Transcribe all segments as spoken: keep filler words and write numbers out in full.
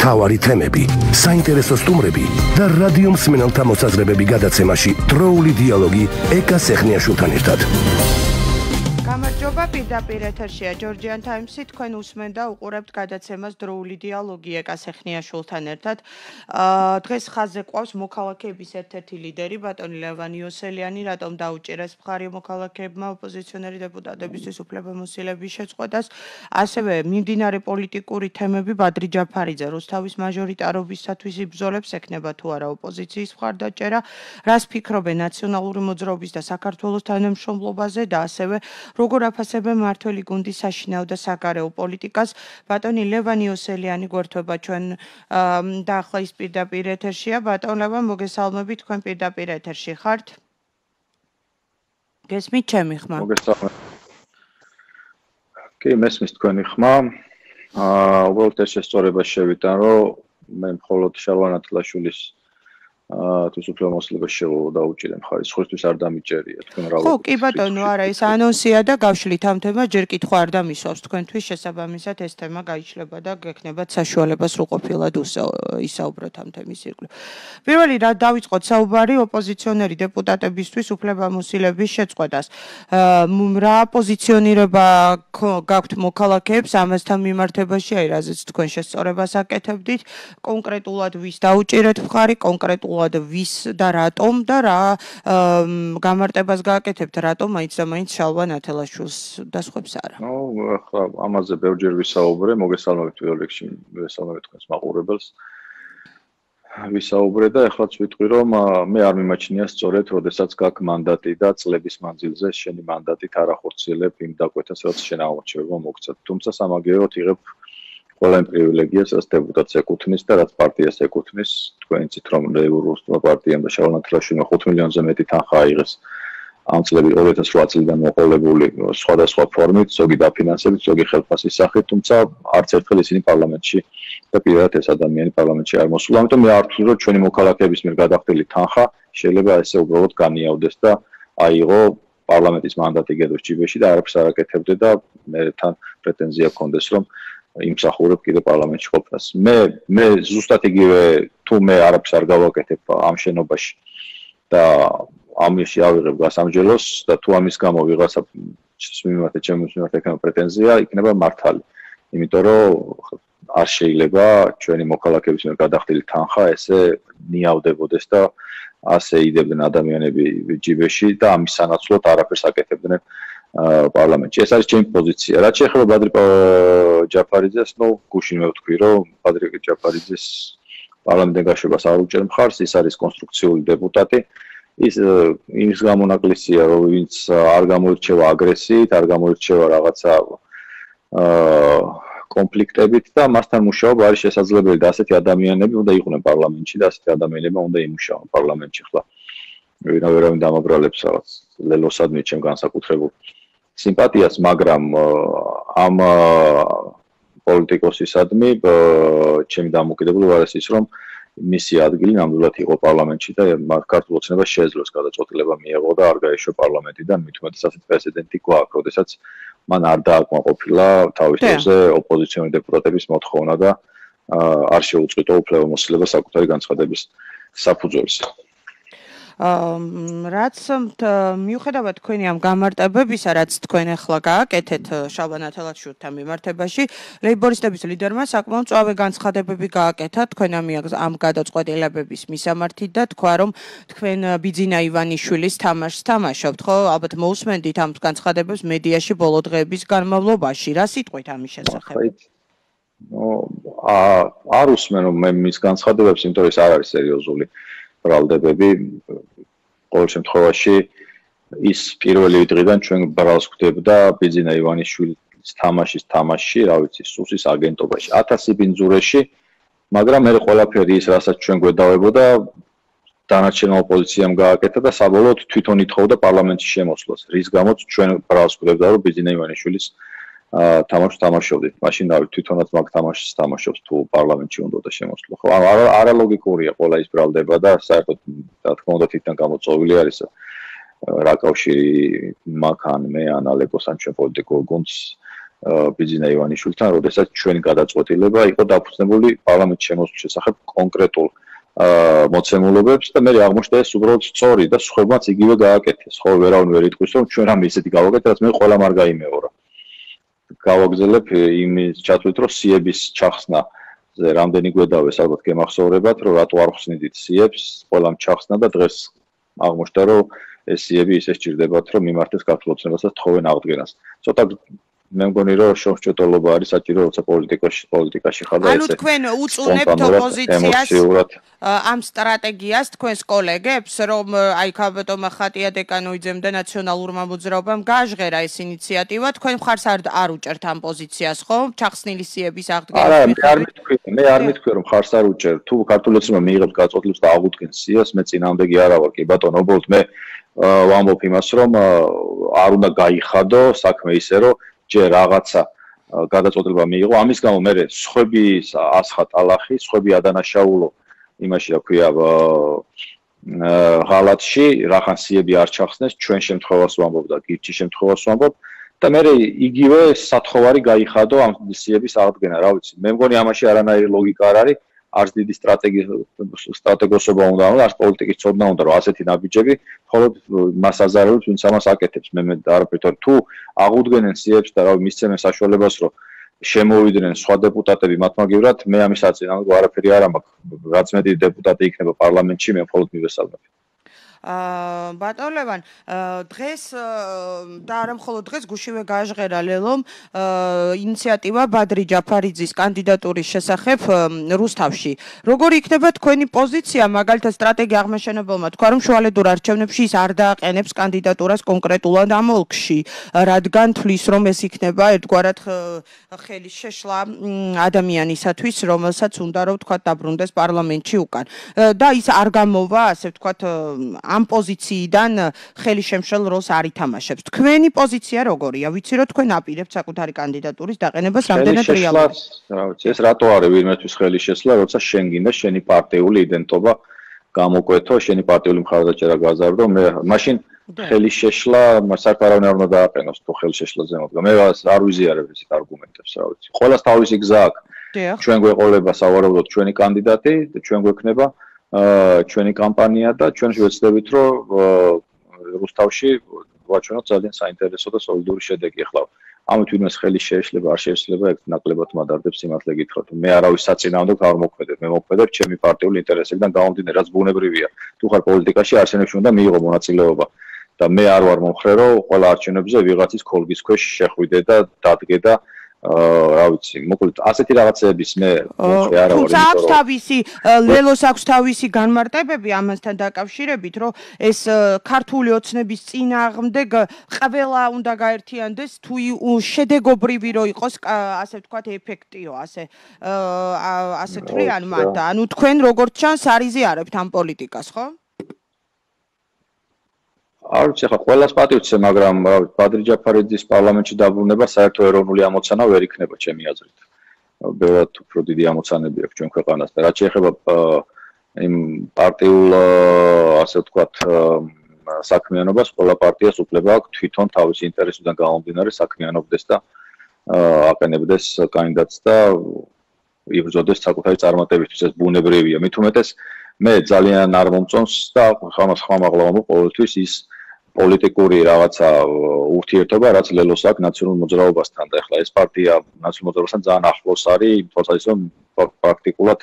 მთავარი თემები, საინტერესო სტუმრები და რადიო მსმენელთა მოსაზრებები გადაცემაში დროული დიალოგი ეკა სეხნიაშვილთან ერთად. გამარჯობა, პირდაპირ ეთერშია Georgian Times-ი, თქვენ უსმენთ და უყურებთ გადაცემას დროული დიალოგი ეკა სეხნიაშვილთან ერთად. დღეს ხაზზე ყავს მოქალაქეების ერთ-ერთი ლიდერი, ბატონი ლევან იოსელიანი, რატომ დაუჭირეს მხარი მოქალაქეებმა ოპოზიციონერი დეპუტატებისთვის უფლებამოსილების შეწყვეტას. ასევე მიმდინარე პოლიტიკური თემები, ბადრი ჯაფარიძე რუსთავის მაჟორიტარობისათვის იბრძოლებს, ექნება თუ არა ოპოზიციის მხარდაჭერა, რას ფიქრობენ ნაციონალური მოძრაობის და საქართველოს თანამშრომლობაზე და ასევე როგორ აფასებენ მმართველი გუნდის საშინაო და საგარეო პოლიტიკას. ბატონი ლევან იოსელიანი გვერდება ჩვენ და ახლა ის პირდაპირ ეთერშია. ბატონ ლევან, მოგესალმებით, თქვენ პირდაპირ ეთერში ხართ? გესმით ჩემი ხმა? მოგესალმებით. კი, მესმის თქვენი ხმა. აა, უბრალოდ ეს შესწორება შევიტან, რომ მე მხოლოდ შარვან ათლაშვილის აა თუ უფლებამოსილებას შევა დაუჭირე მხარი, სხვისთვის არ დამიჭერია თქვენ რა. ხო, კი ბატონო, არა, ეს ანონსია და გავშლით ამ თემას, ჯერ კითხვა არ დამისვავს თქვენთვის, შესაბამისად ეს თემა გაიშლება და გექნებათ საშუალება სრულყოფილად ისაუბროთ ამ თემის ირგვლივ. პირველი რა დავიწყოთ საუბარი ოპოზიციონერი დეპუტატებისთვის უფლებამოსილების შეწყვეტას. რა პოზიციონირება გაქვთ მოქალაქეებს ამასთან მიმართებაში, აი რაზეც თქვენ შესწორებას აკეთებდით, კონკრეტულად ვის დაუჭირეთ მხარი, კონკრეტულად ვის და რატომ და რა გამარტებას გააკეთებთ, რატომ მაინც და მაინც შალვა ნათელაშვილს და სხვებს არა. ნუ ახლა ამაზე ბევრჯერ ვისაუბრე, მოგესალმებით პირველ რიგში, მოგესალმებით თქვენს მაყურებელს. ვისაუბრე და ახლაც ვიტყვი, რომ მე არ მიმაჩნია სწორედ, როდესაც გაქვს მანდატი და წლების მანძილზე შენი მანდატით არ ახორციელებ იმ დაკვეთას, რაც შენ აღმოჩნდება მოგცეთ. თუმცა სამაგიეროდ იღებ ყველა იმ პრივილეგიას, რაც დეპუტატს ეკუთვნის და რაც პარტიას ეკუთვნის. თქვენ იცით, რომ ლეიბურისტმა პარტიამ და შალვა ნათელაშვილმა ხუთ მილიონზე მეტი თანხა აიღეს ამ წლების ორი ათას რვა წლიდან მოყოლებული სხვადასხვა ფორმით, ზოგი დაფინანსებით, ზოგი ხელფასის სახით, თუმცა არც ერთხელ ისინი პარლამენტში და პირადად ეს ადამიანი პარლამენტში არ მოსულა. ამიტომ მე არ ვთვლი, რომ ჩვენი მოქალაქეების მიერ გადახდილი თანხა შეიძლება ესე უბრალოდ განიავდეს და აიღო პარლამენტის მანდატი გედოს ჯიბეში და არაფერს არ აკეთებდე და მე თან პრეტენზია გქონდეს, რომ იმსახურებ კიდე პარლამენტში ყოფნას. მე მე ზუსტად იგივე თუ მე არაფერს არ გავაკეთებ ამ შენობაში და ამაში ავიღებ გასამჯელოს და თუ ამის გამო ვიღაცა მიმართ ჩემს მიმართ ექნება პრეტენზია, იქნება მართალი. იმიტომ რომ არ შეიძლება ჩვენი მოქალაქეების მიერ გადახდილი თანხა ესე ნიავდებოდეს და ასე იდებდნენ ადამიანები ჯიბეში და ამის სანაცვლოდ არაფერს აკეთებდნენ პარლამენტში. ეს არის ჩემი პოზიცია. რაც შეეხება ბადრი ჯაფარიძეს, ნუ გუშინ მე ვთქვი, რომ ბადრი ჯაფარიძეს პარლამენტიდან გაშვებას არ უჭერ მხარს, ის არის კონსტრუქციული დეპუტატი. ის იმის გამონაკლისია, რომ ვინც არ გამოირჩევა აგრესიით, არ გამოირჩევა რაღაცა აა კონფლიქტებით და მასთან მუშაობა არის შესაძლებელი და ასეთი ადამიანები უნდა იყვნენ პარლამენტში და ასეთი ადამიანებმა უნდა იმუშაონ პარლამენტში ხლა. ვერავინ დამაბრალებს რაღაც ლელოსადმი ჩემ განსაკუთრებულ სიმპათიას, მაგრამ ამ პოლიტიკოსისადმი ჩემი დამოკიდებულება არის ის, რომ მისი ადგილი ნამდვილად იყო პარლამენტში და ქართულ ოცნებას შეეძლოს გადაწყვეტილება მიეღო და არ გაეშვა პარლამენტიდან, მით უმეტეს ასეთ პრეცედენტი გვაქვს, როდესაც მან არ დააკმაყოფილა თავის დროზე ოპოზიციონერი დეპუტატების მოთხოვნა და არ შეუწყვიტა უფლებამოსილება საკუთარი განცხადების საფუძველზე. რაც მიუხედავად თქვენი ამ გამარტებებისა, რაც თქვენ ახლა გააკეთეთ შალვა ნათელაშვილთან მიმართებაში, ლეიბორისტების ლიდერმა საკმაოდ მწვავე განცხადებები გააკეთა თქვენ ამ გადაწყვეტილებების მისამართით და თქვა, რომ თქვენ ბიძინა ივანიშვილის თამაშს თამაშობთ, ხო? ალბათ მოусმენდით ამ განცხადებებს მედიაში ბოლო დღეების განმავლობაში. რა სიტყვით ამის შესახებ? ნუ არ უსმენ მე მის განცხადებებს, იმიტომ რომ ეს არ არის სერიოზული ბრალდებები. ყოველ შემთხვევაში ის პირველი დღიდან ჩვენ ბრალს გვდებდა ბიძინა ივანიშვილის თამაშის თამაშში, რა ვიცი, სუსის აგენტობაში, ათასი ბინძურეში, მაგრამ მე ყველაფერი ის, რასაც ჩვენ გვედავებოდა, დანარჩენმა ოპოზიციამ გააკეთა და საბოლოოდ თვითონ ითხოვდა პარლამენტში შემოსვლას, რის გამოც ჩვენ ბრალს გვდებდა, რომ ბიძინა ივანიშვილის თამაშს თამაშობდით. მაშინ რავი, თვითონაც მაგ თამაშს თამაშობს თუ პარლამენტში უნდა შემოსვლა. ხო, არალოგიკურია ყველა ის ბრალდება და საერთოდ რა თქმა უნდა თვითონ გამოწვეული არის რა კავშირი მაგ ან მე ან ალეკოს ან ჩვენ პოლიტიკურ გუნდს ბიძინა ივანიშვილთან, როდესაც ჩვენი გადაწყვეტილება იყო დაფუძნებული პარლამენტის შემოსვლის შესახებ კონკრეტულ მოცემულობებს და მე აღმოჩნდა ეს უბრალოდ სწორი და სხვებმაც იგივე გააკეთეს. ხო, ვერავინ ვერ იტყვის, რომ ჩვენ რამე ისეთი გავაკეთეთ, რაც მე ყველა არ გაიმეორა. გავაგზელებ იმის ჩათვლით, რომ სიების ჩახსნა რამდენი გვედავეს, ალბათ გემახსოვრებათ, რომ რატო არ ხსნიდით სიებს, ყველამ ჩახსნა და დღეს აღმოჩნდა, რომ ეს სიები ისე სჭირდებათ, რომ მიმართეს ქართულ ოცნებასაც თხოვენ აღდგენას. ცოტა მე მგონი რომ შორსჭეტოლობა არის საჭირო, როცა პოლიტიკაში პოლიტიკაში ხარ და ესე. ანუ თქვენ უწუნებთ ოპოზიციას ამ სტრატეგიას თქვენს კოლეგებს, რომ აი ქაბატონ მახატია დეკანოიძემ და ნაციონალურმა მოძრაობამ გააჟღერა ეს ინიციატივა, თქვენ მხარს არ უჭერთ ამ პოზიციას, ხო? ჩახსნილი სიების აღდგენის. არა, მე არ მითქვი, მე არ მითქვი რომ მხარს არ უჭერ. თუ ქართული ოცნება მიიღებს გაწყვეტილებას და აღუდგენს სიას, მე წინააღმდეგი არა ვარ, კი ბატონო, უბრალოდ მე ვამბობ იმას, რომ არ უნდა გაიხადო საქმე ისე, რომ ჯერ რაღაცა გადაწყვეტილება მიიღო, ამის გამო მე სხვები ასხა ტალახი, სხვები ადანაშაულო იმაში რა ქვია ღალატში, რახან სიები არ ჩახსნეს, ჩვენ შემთხვევას ვამბობ და გირჩის შემთხვევას ვამბობ და მე იგივე სათხოვარი გაიხადო ამ სიების აღდგენა, რა ვიცი. მე მგონი ამაში არანაირი ლოგიკა არ არის, არც დიდი სტრატეგია სტრატეგოსობა უნდა, არც პოლიტიკის ცოდნა უნდა, რომ ასეთი ნაბიჯები მხოლოდ მას აზარებს, ვინც ამას აკეთებს. მე მე არაფერთან თუ აღუდგენენ სიებს და რა ვიცი, მისცემენ საშუალებას, რომ შემოვიდნენ სხვა დეპუტატები მათ მაგივრად, მე ამის აწინააღმდეგო არაფერი არ მაქვს. რაც მეტი დეპუტატი იქნება პარლამენტში, მე მხოლოდ მივესალმებ. აა ბატონ ლევან, დღეს და არა მხოლოდ დღეს გუშინვე გააჟღერა ლელომ ინიციატივა ბადრი ჯაფარიძის კანდიდატურის შესახებ რუსთავში. როგორი იქნება თქვენი პოზიცია, მაგალითად სტრატეგი აღმაშენებელმა თქვა, რომ შუალედურ არჩევნებში ის არ დააყენებს კანდიდატურას კონკრეტულად ამ ოლქში, რადგან თვლის, რომ ეს იქნება ერთგვარად ხელის შეშლა ადამიანისათვის, რომელსაც უნდა რომ თქვა დაბრუნდეს პარლამენტში უკან. და ის არ გამოვა, ასე ვთქვათ, ამ პოზიციიდან ხელი შემშლელ როლს არ ითამაშებს. თქვენი პოზიცია როგორია? ვიცი რომ თქვენ აპირებთ საკუთარი კანდიდატურის დაყენებას რამდენად რეალურად. რა ვიცი, ეს რატო არის ვინმეთვის ხელი შესლა, როცა შენ გინდა შენი პარტიული იდენტობა გამოკვეთო, შენი პარტიული მხარდაჭერა გაზარდო, მე მაშინ ხელი შეშლა, საერთოდ არ უნდა დააყენოს თუ ხელი შეშლაზე მოდგა. მე არ ვიზიარებ ესეთ არგუმენტებს, რა ვიცი. ყველას თავისი გზა აქვს. ჩვენ გვეყოლება სავარაუდოდ ჩვენი კანდიდატი და ჩვენ გვექნება ჩვენი კამპანია და ჩვენ შევეცდებით რომ რუსთავში ვაჩვენოთ ძალიან საინტერესო და სოლიდური შედეგი. ახლა ამით ვინმეს ხელი შეეშლება, არ შეეშლება, ეგ ნაკლებად მადარდებს სიმართლე გითხრათ. მე არავის საწინააღმდეგო არ მოქმედებ, მე მოქმედებ ჩემი პარტიული ინტერესებიდან გამომდინარე, რაც ბუნებრივია. თუ ხარ პოლიტიკაში, არსენებში უნდა მიიღო მონაწილეობა და მე არ ვარ მომხრე, რომ ყველა არჩევნებზე ვიღაცის ქოლგის ქვეშ შეხვიდე და დადგე და რა ვიცი, მოკლედ ასეთი რაღაცების მე მომხრე არა ვარ. თუმცა აქვს თავისი ლელოს აქვს თავისი განმარტებები ამასთან დაკავშირებით, რომ ეს ქართული ოცნების წინააღმდეგ ყველა უნდა გაერთიანდეს, თუ შედეგობრივი რო იყოს, ასე ვთქვათ, ეფექტიო, ასე ასე თვლიან მათ. ანუ თქვენ როგორც ჩანს არ იზიარებთ ამ პოლიტიკას, ხო? არ ვიცი, ხა ყველას პატივცე, მაგრამ ბადრი ჯაფარიძის პარლამენტში დაბრუნება საერთო ეროვნული ამოცანა ვერ იქნება ჩემი აზრით. ბევრად უფრო დიდი ამოცანები აქვს ჩვენ ქვეყანას და რაც შეეხება იმ პარტიულ, ასე ვთქვათ, საქმიანობას, ყველა პარტიას უფლება აქვს თვითონ თავისი ინტერესიდან გამომდინარე საქმიანობდეს და აყენებდეს კანდიდატს და იბრძოდეს საკუთარი წარმატებისთვის. ეს ბუნებრივია. მით უმეტეს მე ძალიან არ მომწონს და ხამას ხმამაღლა ვამბობ ყოველთვის ის პოლიტიკური რაღაცა ურთიერთობა, რაც ლელოს აქვს ნაციონალურ მოძრაობასთან და ეხლა ეს პარტია ნაციონალურ მოძრაობასთან ძალიან ახლოს არის, იმ თვალსაზრისით რომ პრაქტიკულად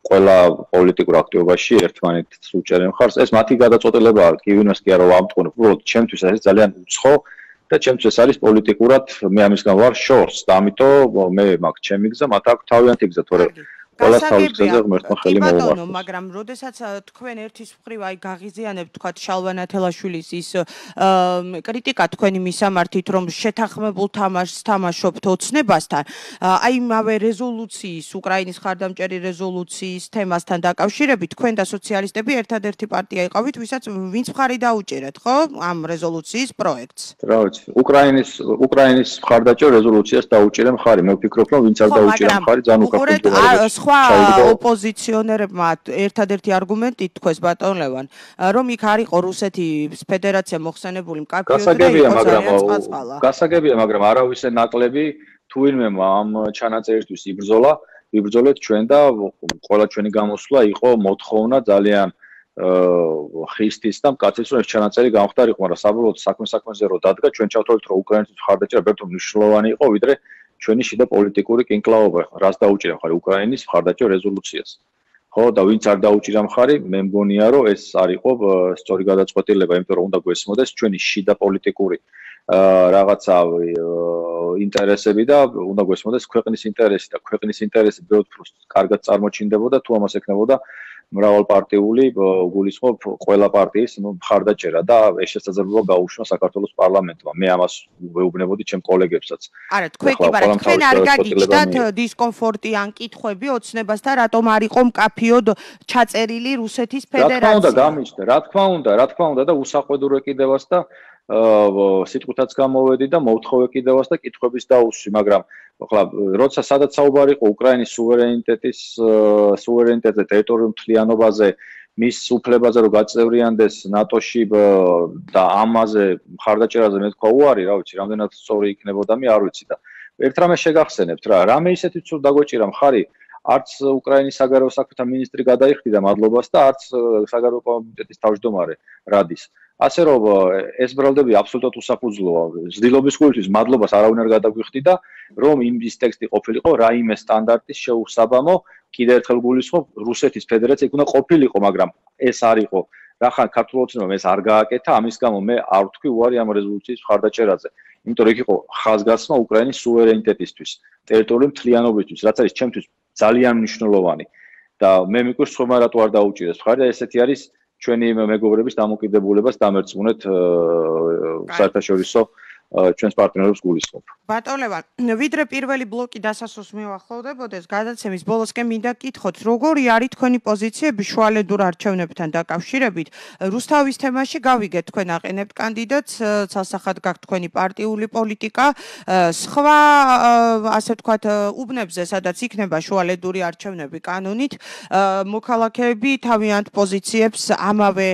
ყველა პოლიტიკურ აქტივობაში ერთმანეთს უჭერენ მხარს. ეს მათი გადაწყვეტილებაა, კი ვინმეს კი არა ვამტყუნებ, უბრალოდ ჩემთვის ეს ძალიან უცხო და ჩემთვის ეს არის პოლიტიკურად, მე ამის გამო ვარ შორს და ამიტომ მე მაქვს ჩემი გზა, მათ აქვს თავიანთი გზა, თორე ყველას თავის გზაზე ღმერთმა ხელი მოუართოს. მაგრამ როდესაც თქვენ ერთის მხრივ აი გაღიზიანებთ თქვათ შალვა ნათელაშვილის ის კრიტიკა თქვენი მისამართით, რომ შეთანხმებულ თამაშს თამაშობთ ოცნებასთან, აი იმავე რეზოლუციის, უკრაინის ხარდამჭერი რეზოლუციის თემასთან დაკავშირებით, თქვენ და სოციალისტები ერთადერთი პარტია იყავით, ვისაც ვინც მხარი დაუჭერეთ, ხო, ამ რეზოლუციის პროექტს. რა ვიცი, უკრაინის უკრაინის მხარდაჭერ რეზოლუციას დაუჭერე მხარი, მე ვფიქრობ, რომ ვინც არ დაუჭერა მხარი, ძალიან უკაფუძველი. სხვა ოპოზიციონერებმა ერთადერთი არგუმენტი თქვეს ბატონ ლევან, რომ იქ არ იყო რუსეთის ფედერაცია მოხსენებული მკაფიოდ და იყო ძალიან წყალწყალა. გასაგებია, მაგრამ არავისე ნაკლები თუ ვინმე ამ ჩანაწერისთვის იბრძოლა, იბრძოლეთ ჩვენ და ყველა ჩვენი გამოსვლა იყო მოთხოვნა ძალიან ხისტის და მკაცრის რომ ეს ჩანაწერი გამختارიყო, მაგრამ საბოლოოდ საქმე საქმეზე რო დადგა, ჩვენ ჩავთვალეთ რომ უკრაინის მხარდაჭერა ბევრ მნიშვნელოვანი იყო, ვიდრე ჩვენი შიდა პოლიტიკური კინკლაობა, რას დაუჭირა მხარი უკრაინის მხარდაჭერა რეზოლუციას. ხო, და ვინც არ დაუჭირა მხარი, მე მგონია რომ ეს არ იყო სწორი გადაწყვეტილება, იმიტომ რომ უნდა გვესმოდეს ჩვენი შიდა პოლიტიკური რაღაცა ინტერესები და უნდა გვესმოდეს ქვეყნის ინტერესი და ქვეყნის ინტერესი ბევრ დროს კარგად წარმოჩინდებოდა თუ ამას ეკნებოდა მრავალპარტიული გულისხმობ ყველა პარტიის მხარდაჭერა და ეს შესაძლებლობა გაუჩნდა საქართველოს პარლამენტმა. მე ამას ვეუბნებოდი ჩემ კოლეგებსაც. არა, თქვენ კი ვართ, თქვენ არ გაგიჩნდათ დისკომფორტი ან კითხვები ოცნებასთან, რატომ არ იყო მკაფიოდ ჩაწერილი რუსეთის ფედერაცია? რა თქმა უნდა, გამიჩნდა, რა თქმა უნდა, რა თქმა უნდა და უსაყვედურ ეკიდებას და სიტყვითაც გამოვედი და მოვთხოვე კიდევაც და კითხვების დაუსვი, მაგრამ ახლა როცა სადაც საუბარი იყო უკრაინის სუვერენიტეტის სუვერენიტეტზე, ტერიტორიულ მთლიანობაზე, მის უფლებაზე რომ გაწევრიანდეს ნატოში და ამაზე მხარდაჭერაზე მე თქვა უარი, რა ვიცი, რამდენად სწორი იქნებოდა მე არ ვიცი და ერთ რამე შეგახსენებთ რა, რამე ისეთი თუ დაგვეჭირა მხარი არც უკრაინის საგარეო საქმეთა მინისტრი გადაიხდიდა მადლობას და არც საგარეო კომიტეტის თავმჯდომარე რადის. ასე რომ ეს ბრალდები აბსოლუტურად უსაფუძვლოა. ზრდილობის გულისთვის მადლობას არავინ არ გადაგვიხდიდა, რომ იმის ტექსტი ყოფილიყო რაიმე სტანდარტის შეუსაბამო, კიდევ ერთხელ გულისხმობ, რუსეთის ფედერაცია უნდა ყოფილიყო, მაგრამ ეს არ იყო. რახან ქართულ ოცნებამ ეს არ გააკეთა, ამის გამო მე არ ვთქვი უარი ამ რეზოლუციის მხარდაჭერაზე. იმიტომ რომ იქ იყო ხაზგასმა უკრაინის სუვერენიტეტისთვის, ტერიტორიული მთლიანობისთვის, რაც არის ჩემთვის ძალიან მნიშვნელოვანი. და მე მიკვირს ხომა რატო არ დაუჭირეს მხარი და ესეთი არის ჩვენი მეგობრების დამოკიდებულებას დამერწმუნეთ საერთაშორისო ჩვენს პარტნიორებს გულისხმობ. ბატონ ლევან, ვიდრე პირველი ბლოკი დასასრულს მივახლოვდებოდეს, გადაცემის ბოლოსკენ მინდა გკითხოთ, როგორი არის თქვენი პოზიციები შუალედურ არჩევნებთან დაკავშირებით? რუსთავის თემაში გავიგეთ, თქვენ აყენებთ კანდიდატს, ცალსახად გაქვთ თქვენი პარტიული პოლიტიკა, სხვა ასე ვთქვათ, უბნებზე, სადაც იქნება შუალედური არჩევნები კანონით, მოქალაქეები თავიანთ პოზიციებს ამავე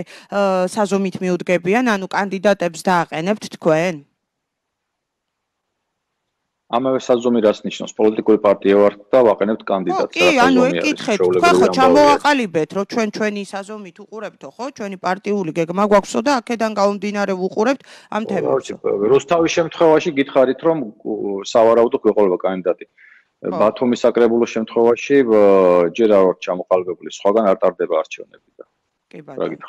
საზომით მიუდგებიან, ანუ კანდიდატებს დააყენებთ თქვენ? ამავე საზომი რას ნიშნავს? პოლიტიკური პარტია ვართ და ვაყენებთ კანდიდატს. კი, ანუ ეკითხეთ, თქვენ ხო ჩამოვაყალიბეთ, რომ ჩვენ ჩვენი საზომით უყურებთო, ხო? ჩვენი პარტიული გეგმა გვაქვსო და აქედან გამომდინარე ვუყურებთ ამ თემებს. რუსთავის შემთხვევაში გითხარით, რომ სავარაუდოდ გვეყოლება კანდიდატი. ბათუმის საკრებულოს შემთხვევაში ჯერ არ ვართ ჩამოყალიბებული, სხვაგან არ ტარდება არჩევნები და. კი ბატონო.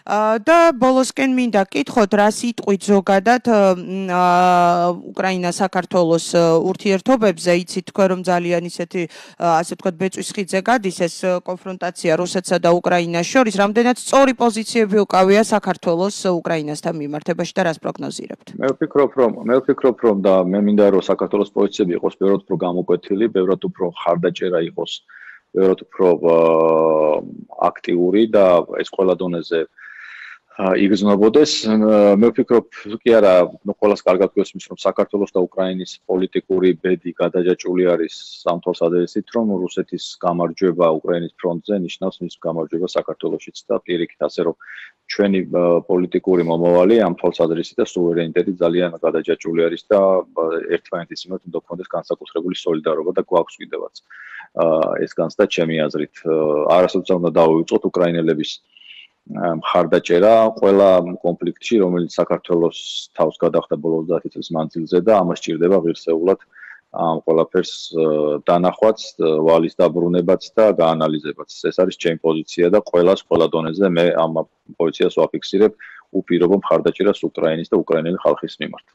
და ბოლოსკენ მინდა გკითხოთ, რა სიტყვით ზოგადად უკრაინა საქართველოს ურთიერთობებზე, იცით თქვენ რომ ძალიან ისეთი ასე ვთქვათ ბეწვის ხიძზე გადის ეს კონფრონტაცია რუსეთსა და უკრაინას შორის, რამდენად სწორი პოზიციები უკავია საქართველოს უკრაინასთან მიმართებაში და რას პროგნოზირებთ? მე ვფიქრობ, რომ მე ვფიქრობ, რომ და მე მინდა რომ საქართველოს პოზიციები იყოს ბევრად უფრო გამოკვეთილი, ბევრად უფრო ხარდაჭერა იყოს, ბევრად უფრო აქტიური და ეს ყველა დონეზე იგრძნობოდეს. მე ვფიქრობ, კი არა, ყველას კარგად გვესმის, რომ საქართველოს და უკრაინის პოლიტიკური ბედი გადაჯაჭვული არის ამ თვალსაზრისით, რომ რუსეთის გამარჯვება უკრაინის ფრონტზე ნიშნავს მის გამარჯვება საქართველოშიც და პირიქით, ასე რომ ჩვენი პოლიტიკური მომავალი ამ თვალსაზრისით და სუვერენიტეტი ძალიან გადაჯაჭვული არის და ერთმანეთის მიმართ უნდა გქონდეს განსაკუთრებული სოლიდარობა და გვაქვს კიდევაც ეს განცდა ჩემი აზრით. არასოდეს უნდა დავივიწყოთ უკრაინელების მხარდაჭერა ყველა კონფლიქტში, რომელიც საქართველოს თავს გადახდა ბოლო ოცდაათი წლის მანძილზე და ამას სჭირდება ღირსეულად ამ ყველაფერს დანახვაც, ვალის დაბრუნებაც და გაანალიზებაც. ეს არის ჩემი პოზიცია და ყველას ყველა დონეზე მე ამ პოზიციას ვაფიქსირებ უპირობო მხარდაჭერას უკრაინის და უკრაინელი ხალხის მიმართ.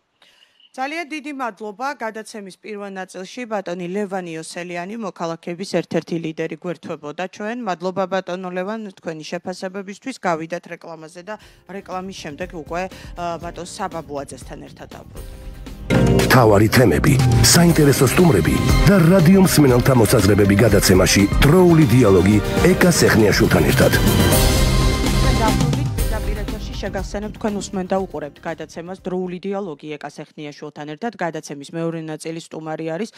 ძალიან დიდი მადლობა გადაცემის პირველ ნაწილში ბატონი ლევან იოსელიანი მოქალაქეების ერთ-ერთი ლიდერი გვერდთვებოდა ჩვენ. მადლობა ბატონო ლევან თქვენი შეფასებებისთვის. გავიდათ რეკლამაზე და რეკლამის შემდეგ უკვე ბატონ საბაბუაძესთან ერთად დავბრუნდებით. მთავარი თემები, საინტერესო სტუმრები და რადიო მსმენელთა მოსაზრებები გადაცემაში დროული დიალოგი ეკა სეხნიაშვილთან ერთად. შეგახსენებთ, თქვენ უსმენთ და უყურებთ გადაცემას დროული დიალოგი ეკა სეხნიაშვილთან ერთად. გადაცემის მეორე ნაწილი სტუმარი არის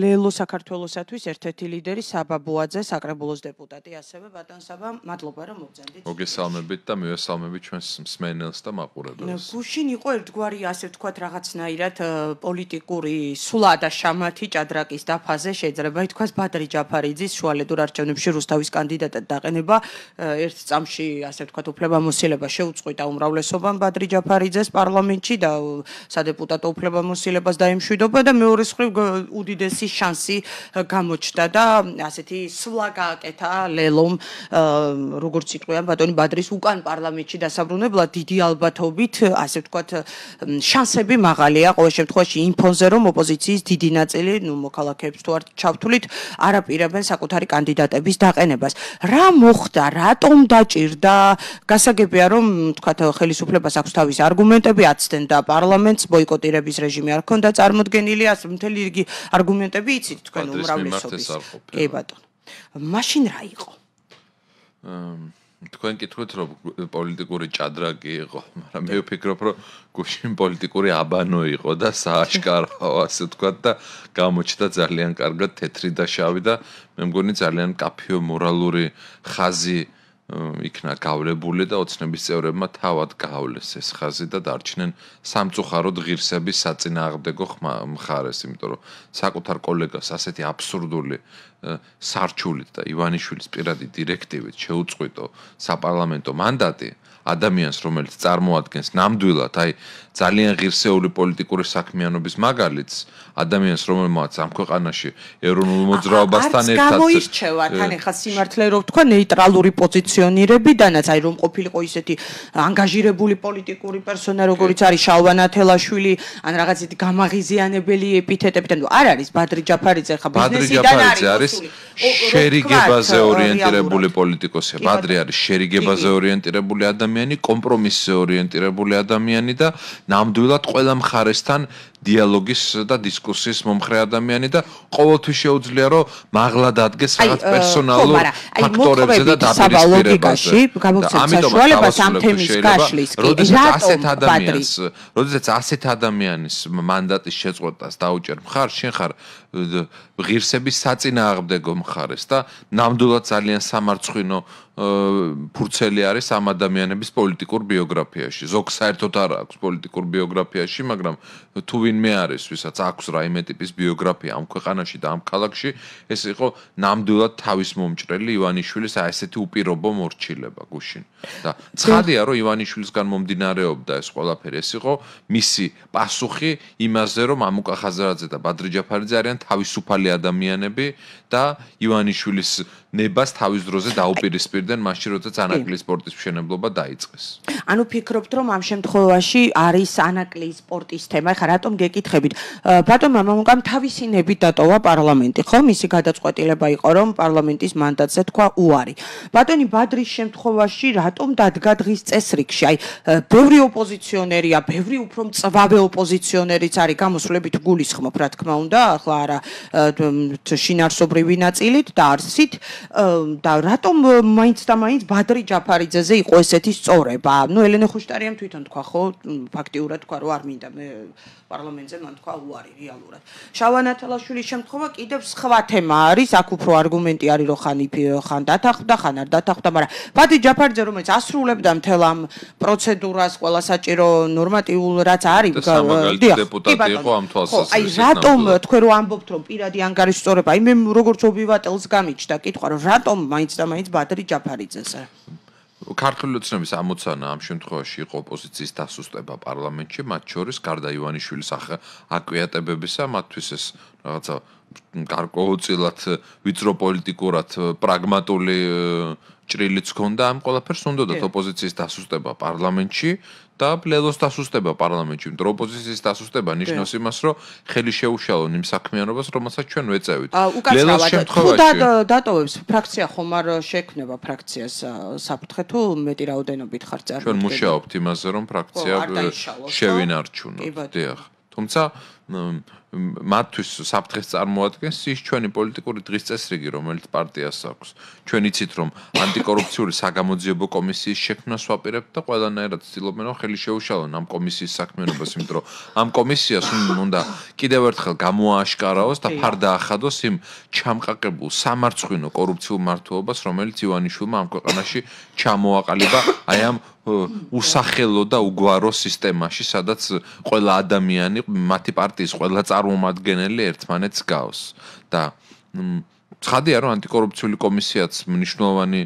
ლელო საქართველოსათვის ერთ-ერთი ლიდერი საბა ბუაძე, საკრებულოს დეპუტატი, ასევე ბატონ საბა, მადლობა რომ მოგზავნით. მოგესალმებით და მივესალმებით ჩვენს მსმენელს და მაყურებელს. გუშინ იყო ერთგვარი, ასე ვთქვათ, რაღაცნაირად პოლიტიკური სულა და შამათი ჭადრაკის დაფაზე, შეიძლება ითქვას ბადრი ჯაფარიძის შუალედურ არჩევნებში რუსთავის კანდიდატად დაყენება ერთ წამში, ასე ვთქვათ, უფლებამოსილება შეუწყვიტა უმრავლესობამ ბადრი ჯაფარიძეს პარლამენტში და სადეპუტატო უფლებამოსილებას დაემშვიდობა და მეორე მხრივ უდიდესი შანსი გამოჩნდა და ასეთი სვლა გააკეთა ლელომ, როგორც იტყვიან ბატონი ბადრის უკან პარლამენტში დასაბრუნებლად დიდი ალბათობით, ასე ვთქვათ, შანსები მაღალია ყოველ შემთხვევაში იმ ფონზე, რომ ოპოზიციის დიდი ნაწილი, ნუ მოქალაქეებს თუ არ ჩავთვლით, არ აპირებენ საკუთარი კანდიდატების დაყენებას. რა მოხდა, რატომ დაჭირდა? გასაგებია, რომ თქვათ, ხელისუფლებას აქვს თავისი არგუმენტები, აცდენდა პარლამენტს, ბოიკოტირების რეჟიმი არ ქონდა წარმოდგენილი, ასე მთელი რიგი არგუმენტები იცით თქვენ უმრავლესობის. კი ბატონო. მაშინ რა იყო? თქვენ კითხეთ, რომ პოლიტიკური ჭადრაკი იყო, მაგრამ მე ვფიქრობ, რომ გუშინ პოლიტიკური აბანო იყო და სააშკარო, ასე ვთქვათ და გამოჩნდა ძალიან კარგად თეთრი და შავი და მე მგონი ძალიან კაფეო მორალური ხაზი იქნა გავლებული და ოცნების წევრებმა თავად გაავლეს ეს ხაზი და დარჩნენ სამწუხაროდ ღირსების საწინააღმდეგო მხარეს, იმიტომ რომ საკუთარ კოლეგას ასეთი აბსურდული სარჩულით და ივანიშვილის პირადი დირექტივით შეუწყვიტო საპარლამენტო მანდატი ადამიანს, რომელიც წარმოადგენს ნამდვილად აი ძალიან ღირსეული პოლიტიკური საქმიანობის მაგალითს, ადამიანს, რომელმაც ამ ქვეყანაში ეროვნულ მოძრაობასთან ერთად გამოირჩევა თან ეხლა სიმართლე რომ თქვა ნეიტრალური პოზიციონირებიდანაც, აი რომ ყოფილიყო ისეთი ანგაჟირებული პოლიტიკური პერსონა, როგორიც არის შალვა ნათელაშვილი, ან რაღაც ისეთი გამაღიზიანებელი ეპითეტებიდან, არ არის ბადრი ჯაფარიძე ხა ბიზნესიდან არის შერიგებაზე ორიენტირებული პოლიტიკოსია. ბადრი არის შერიგებაზე ორიენტირებული ადამიანი, კომპრომისზე ორიენტირებული ადამიანი და ნამდვილად ყველა მხარესთან დიალოგის და დისკუსიის მომხრე ადამიანი და ყოველთვის შეუძლია რომ მაღლა დადგეს რაღაც პერსონალურ ფაქტორებზე და დაპირისპირებაზე. ამიტომ საშუალებას ამ თემის გაშლის კი ასეთ ადამიანს, როდესაც ასეთ ადამიანის მანდატის შეწყვეტას დაუჭერ მხარ, შენ ხარ ღირსების საწინააღმდეგო მხარეს და ნამდვილად ძალიან სამარცხვინო ფურცელი არის ამ ადამიანების პოლიტიკურ ბიოგრაფიაში. ზოგ საერთოდ არ აქვს პოლიტიკურ ბიოგრაფიაში, მაგრამ თუ ვინმე არის, ვისაც აქვს რაიმე ტიპის ბიოგრაფია ამ ქვეყანაში და ამ ქალაქში, ეს იყო ნამდვილად თავის მომჭრელი ივანიშვილის აი ესეთი უპირობო მორჩილება გუშინ. და ცხადია, რომ ივანიშვილისგან მომდინარეობდა ეს ყველაფერი, ეს იყო მისი პასუხი იმაზე, რომ ამუკა ხაზარაძე და ბადრი ჯაფარიძე არიან თავისუფალი ადამიანები და ივანიშვილის ნებას თავის დროზე დაუპირისპირდნენ მაშინ, როდესაც ანაკლიის სპორტის მშენებლობა დაიწყეს. ანუ ფიქრობთ, რომ ამ შემთხვევაში არის ანაკლიის სპორტის თემა, ხა რატომ გეკითხებით? ბატონმა მამუკამ თავისი ნებით დატოვა პარლამენტი, ხო? მისი გადაწყვეტილება იყო, რომ პარლამენტის მანდატზე თქვა უარი. ბატონი ბადრის შემთხვევაში რატომ დადგა დღის წესრიგში? აი, ბევრი ოპოზიციონერია, ბევრი უფრო მწვავე ოპოზიციონერიც არის, გამოსვლებით გულისხმობ, რა თქმა უნდა, ახლა არა შინაარსობრივი ნაწილით და არსით და რატომ მაინც და მაინც ბადრი ჯაფარიძეზე იყო ესეთი სწორება? ნუ ელენე ხუშტარიამ თვითონ თქვა, ხო, ფაქტიურად თქვა, რომ არ მინდა მე პარლამენტზე მან თქვა უარი რეალურად. შალვა ნათელაშვილის შემთხვევა კიდევ სხვა თემა არის, აქ უფრო არგუმენტი არის, რომ ხან ხან დათანხმდა, ხან არ დათანხმდა, მაგრამ ბადრი ჯაფარიძე, რომელიც ასრულებდა მთელ ამ პროცედურას, ყველა საჭირო ნორმატიულ რაც არის, დეპუტატი იყო ამ თვალსაზრისით. აი, რატომ თქვენ რო ამბობთ, რომ პირადი ანგარიშის სწორება, აი მე როგორც ობივატელს გამიჩნდა კითხვა, რომ რატომ მაინც და მაინც ბადრი ჯაფარიძეზე? ქართული ოცნების ამოცანა ამ შემთხვევაში იყო ოპოზიციის დასუსტება პარლამენტში, მათ შორის გარდა ივანიშვილის აკვიატებებისა, მათთვის ეს რაღაცა გარკვეულწილად ვიწრო პოლიტიკურად პრაგმატული ჭრილიც ჰქონდა, ამ ყველაფერს უნდათ ოპოზიციის დასუსტება პარლამენტში და ლელოს დასუსტება პარლამენტში. იმიტომ რომ ოპოზიციის დასუსტება ნიშნავს იმას, რომ ხელი შეუშალონ იმ საქმიანობას, რომელსაც ჩვენ ვეწევით. ლელოს შემთხვევაში თუ დატოვებს ფრაქცია ხომ არ შექმნება ფრაქციას საფრთხე თუ მეტი რაოდენობით ხარ წარმოდგენილი. ჩვენ მუშაობთ იმაზე, რომ ფრაქცია შევინარჩუნოთ. დიახ. თუმცა მათთვის საფრთხეს წარმოადგენს ის ჩვენი პოლიტიკური დღის წესრიგი, რომელიც პარტიას აქვს. ჩვენ იცით, რომ ანტიკორუფციული საგამოძიებო კომისიის შექმნას ვაპირებთ და ყველანაირად ცდილობენ, რომ ხელი შეუშალონ ამ კომისიის საქმიანობას, იმიტომ რომ ამ კომისიას უნდა კიდევ ერთხელ გამოააშკარაოს და ფარდა ახადოს იმ ჩამყაკებულ სამარცხვინო კორუფციულ მართლობას, რომელიც ივანიშვილმა ამ ქვეყანაში ჩამოაყალიბა აი ამ უსახელო და უგვარო სისტემაში, სადაც ყველა ადამიანი, მათი პარტიის ყველა წარმომადგენელი ერთმანეთს გავს. და ცხადია, რომ ანტიკორუფციული კომისიაც მნიშვნელოვანი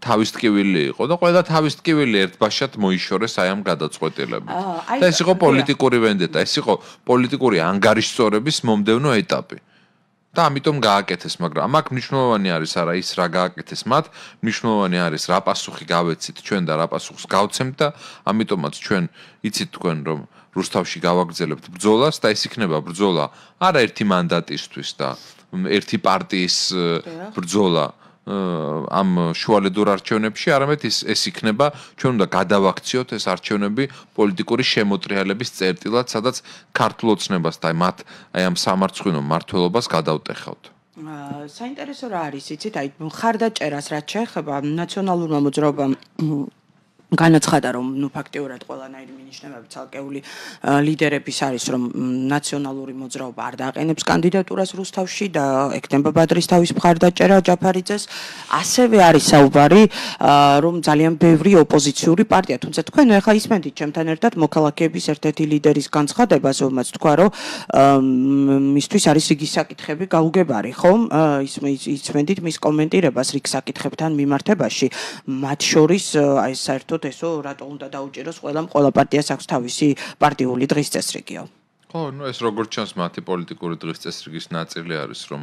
თავის ტკივილი იყო და ყველა თავის ტკივილი ერთბაშად მოიშორეს აი ამ გადაწყვეტილებით. და ეს იყო პოლიტიკური ვენდეტა, ეს იყო პოლიტიკური ანგარიშწორების მომდევნო ეტაპი. და ამიტომ გააკეთეს, მაგრამ აქ მნიშვნელოვანი არის არა ის რა გააკეთეს მათ, მნიშვნელოვანი არის რა პასუხი გავეცით ჩვენ და რა პასუხს გავცემთ და ამიტომაც ჩვენ იცით თქვენ რომ რუსთავში გავაგრძელებთ ბრძოლას და ეს იქნება ბრძოლა არა ერთი მანდატისთვის და ერთი პარტიის ბრძოლა ამ შუალედურ არჩევნებში, არამედ ის ეს იქნება ჩვენ უნდა გადავაქციოთ ეს არჩევნები პოლიტიკური შემოტრიალების წერტილად, სადაც ქართულ ოცნებას და მათ აი ამ სამარცხვინო მმართველობას გადავტეხავთ. საინტერესო რა არის, იცით, აი მხარდაჭერას რაც შეეხება ნაციონალურმა მოძრაობამ განაცხადა, რომ ნუ ფაქტიურად ყველანაირი მინიშნებები ცალკეული ლიდერების არის, რომ ნაციონალური მოძრაობა არ დააყენებს კანდიდატურას რუსთავში და ექნება ბადრის თავის მხარდაჭერა ჯაფარიძეს. ასევე არის საუბარი, რომ ძალიან ბევრი ოპოზიციური პარტია, თუმცა თქვენ ახლა ისმენთ ჩემთან ერთად მოქალაქეების ერთ-ერთი ლიდერის განცხადებას, რომელმაც თქვა, რომ მისთვის არის რიგი საკითხები გაუგებარი, ხომ? ისმენთ მის კომენტირებას რიგ საკითხებთან მიმართებაში, მათ შორის აი საერთოდ ესო რატო უნდა დაუჭიროს ყველამ, ყველა პარტიას აქვს თავისი პარტიული დღის წესრიგიო. ხო, ნუ ეს როგორც ჩანს მათი პოლიტიკური დღის წესრიგის ნაწილი არის, რომ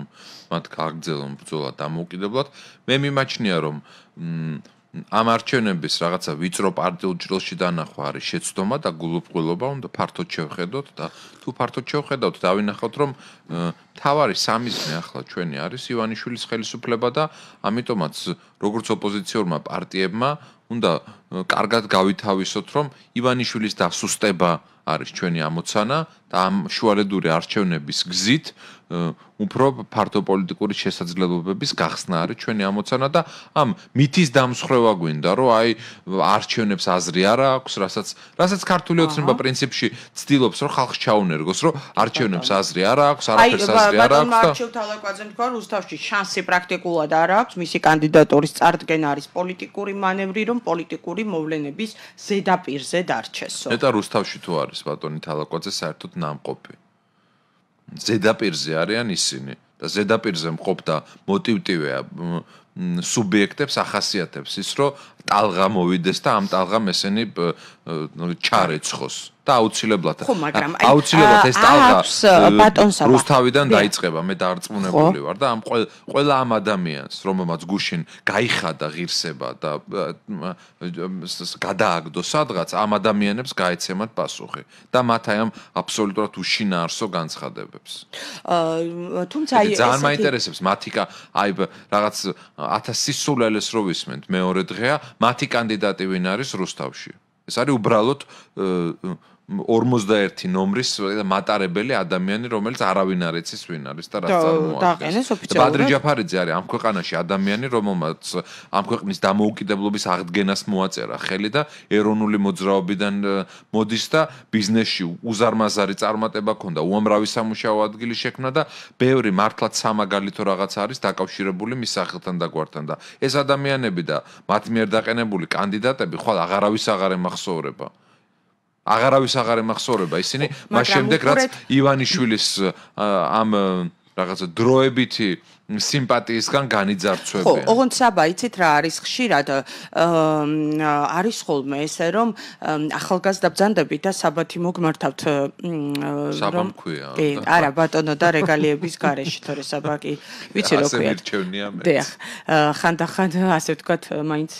მათ გააგრძელონ ბრძოლა დამოუკიდებლად. მე მიმაჩნია, რომ ამ არჩევნების რაღაცა ვიწრო პარტიულ ჭრილში დანახვა არის შეცდომა და გულუბრყვილობა, უნდა ფართოდ შევხედოთ და თუ ფართოდ შევხედავთ, დავინახავთ, რომ მთავარი სამიზნე ახლა ჩვენი არის ივანიშვილის ხელისუფლება და ამიტომაც როგორც ოპოზიციურმა პარტიებმა უნდა კარგად გავითავისოთ, რომ ივანიშვილის დასუსტება არის ჩვენი ამოცანა და ამ შუალედური არჩევნების გზით უფრო ფართო პოლიტიკური შესაძლებლობების გახსნა არის ჩვენი ამოცანა და ამ მითის დამსხრევა გვინდა, რომ აი არჩევნებს აზრი არ აქვს, რასაც რასაც ქართული ოცნება პრინციპში ცდილობს, რომ ხალხს ჩაუნერგოს, რომ არჩევნებს აზრი არ აქვს, არაფერს აზრი არ აქვს და არჩევ თალაკვაძემ თქვა, რუსთავში შანსი პრაქტიკულად არ აქვს, მისი კანდიდატურის წარდგენა არის პოლიტიკური მანევრი, რომ პოლიტიკური მოვლენების ზედაპირზე დარჩესო. და რუსთავში თუ არის ბატონი თალაკვაძე საერთოდ ნამყოფი. ზედაპირზე არიან ისინი და ზედაპირზე მყოფდა მოტივტივეა სუბიექტებს ახასიათებს ის, რომ ტალღა მოვიდეს და ამ ტალღამ ესენი ჩარეცხოს და აუცილებლად აუცილებლად ეს ტალღა რუსთავიდან დაიწყება, მე დარწმუნებული ვარ და ამ ყველა ამ ადამიანს, რომელმაც გუშინ გაიხადა ღირსება და გადააგდო სადღაც, ამ ადამიანებს გაეცემათ პასუხი და მათ აი ამ აბსოლუტურად უშინაარსო განცხადებებს. თუმცა აი ძალიან მაინტერესებს მათი აი რაღაც ათას სისულელეს რო ვისმენთ მეორე დღეა, მათი კანდიდატი ვინ არის რუსთავში. ეს არის უბრალოდ ორმოცდაერთი ნომრის მატარებელი ადამიანი, რომელიც არავინ არ იცის ვინ არის და რაც წარმოადგენს. ბადრი ჯაფარიძე არის ამ ქვეყანაში ადამიანი, რომელმაც ამ ქვეყნის დამოუკიდებლობის აღდგენას მოაწერა ხელი და ეროვნული მოძრაობიდან მოდის და ბიზნესში უზარმაზარი წარმატება ჰქონდა, უამრავი სამუშაო ადგილი შექმნა და ბევრი მართლაც სამაგალითო რაღაც არის დაკავშირებული მის სახელთან და გვართან და ეს ადამიანები და მათ მიერ დაყენებული კანდიდატები ხვალ აღარავის აღარ ემახსოვრება. აღარავის აღარ ემახსოვრება ისინი, მას შემდეგ რაც ივანიშვილის ამ რაღაცა დროებითი სიმპათიისგან განიძარცვებიან. ხო, ოღონდ საბა, იცით რა არის ხშირად არის ხოლმე ესე, რომ ახალგაზრდა ბრძანდები და საბათი მოგმართავთ საბამ ქვია. კი, არა, ბატონო და რეგალიების გარეშე, თორე საბა კი ვიცი რო ქვია. ასე მირჩევნია მე. დიახ, ხანდახან ასე ვთქვათ, მაინც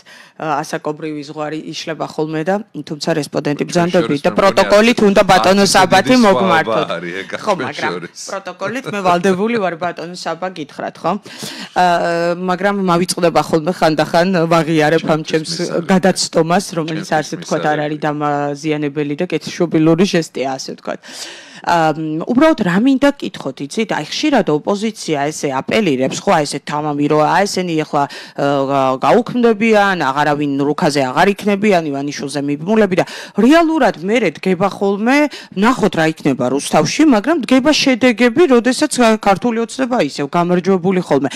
ასაკობრივი ზღვარი იშლება ხოლმე და თუმცა რესპონდენტი ბრძანდები და პროტოკოლით უნდა ბატონო საბათი მოგმართოთ. ხო, მაგრამ პროტოკოლით მე ვალდებული ვარ ბატონო საბა გითხრათ. მაგრამ მავიწყდება ხოლმე ხანდახან ვაღიარებ ამ ჩემს გადაცდომას, რომელიც ასე ვთქვათ არ არის დამაზიანებელი და კეთილშობილური ჟესტია, ასე ვთქვათ. უბრალოდ რა მინდა გკითხოთ, იცით? აი ხშირად ოპოზიცია ესე აპელირებს, ხო, აი ესე თამამი რომ აი ესენი ახლა გაუქმდებიან, აღარავინ რუქაზე აღარ იქნებიან, ივანიშვილზე მიბმულები და რეალურად მერე დგება ხოლმე, ნახოთ რა იქნება რუსთავში, მაგრამ დგება შედეგები, როდესაც ქართული ოცნება ისევ გამარჯვებული ხოლმე.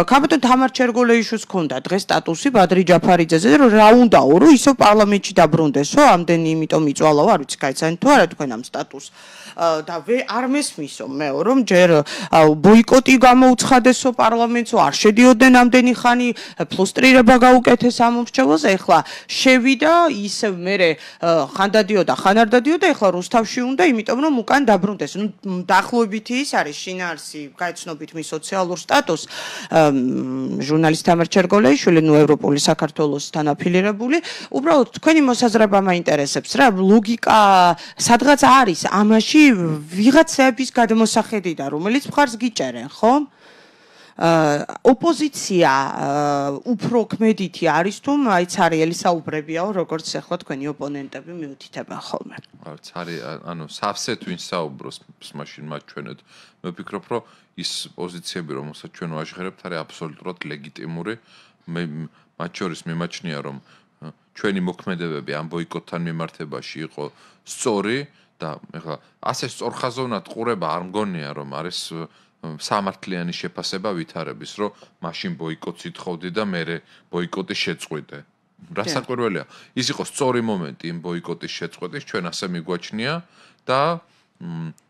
კაპიტან თამარ ჩერგოლეიშვილს ჰქონდა დღეს სტატუსი ბადრი ჯაფარიძეზე, რომ რა უნდაო, რომ ისევ პარლამენტში დაბრუნდესო, ამდენი იმიტომ იწვალაო, არ ვიცი, გაიცანით თუ არა თქვენ ამ სტატუსს. და არ მესმისო მეო, რომ ჯერ ბოიკოტი გამოუცხადესო პარლამენტსო, არ შედიოდნენ ამდენი ხანი, ფლუსტრირება გაუკეთეს ამ მომრჩევლზე, ეხლა შევიდა, ისევ მერე ხან დადიოდა, ხან არ დადიოდა, ეხლა რუსთავში უნდა, იმიტომ რომ უკან დაბრუნდეს. ნუ დაახლოებითი ის არის შინაარსი, გაიცნობით მის სოციალურ სტატუსს, ჟურნალისტ თამარ ჩერგოლეიშვილი, ნუ ევროპული საქართველოსთან აფილირებული, უბრალოდ თქვენი მოსაზრება მაინტერესებს რა, ლოგიკა სადღაც არის ამაში ვიღაცების გადმოსახედიდან, რომელიც მხარს გიჭერენ, ხო? ოპოზიცია უფრო ქმედითი არის თუ აი ცარიელი საუბრებიაო, როგორც ახლა თქვენი ოპონენტები მიუთითებენ ხოლმე. ცარი, ანუ სავსეთ ვინ საუბრობს მაშინ მათ ჩვენეთ. მე ვფიქრობ, რომ ის პოზიციები, რომელსაც ჩვენ ვაჟღერებთ, არის აბსოლუტურად ლეგიტიმური. მე მათ შორის მიმაჩნია, რომ ჩვენი მოქმედებები ამ ბოიკოტთან მიმართებაში იყო სწორი და ეხლა ასე სწორხაზოვნად ყურება არ მგონია, რომ არის სამართლიანი შეფასება ვითარების, რომ მაშინ ბოიკოტს ითხოვდი და მე ბოიკოტი შეწყვიტე. რა საკვირველია? ის იყო სწორი მომენტი იმ ბოიკოტის შეწყვეტის, ჩვენ ასე მიგვაჩნია და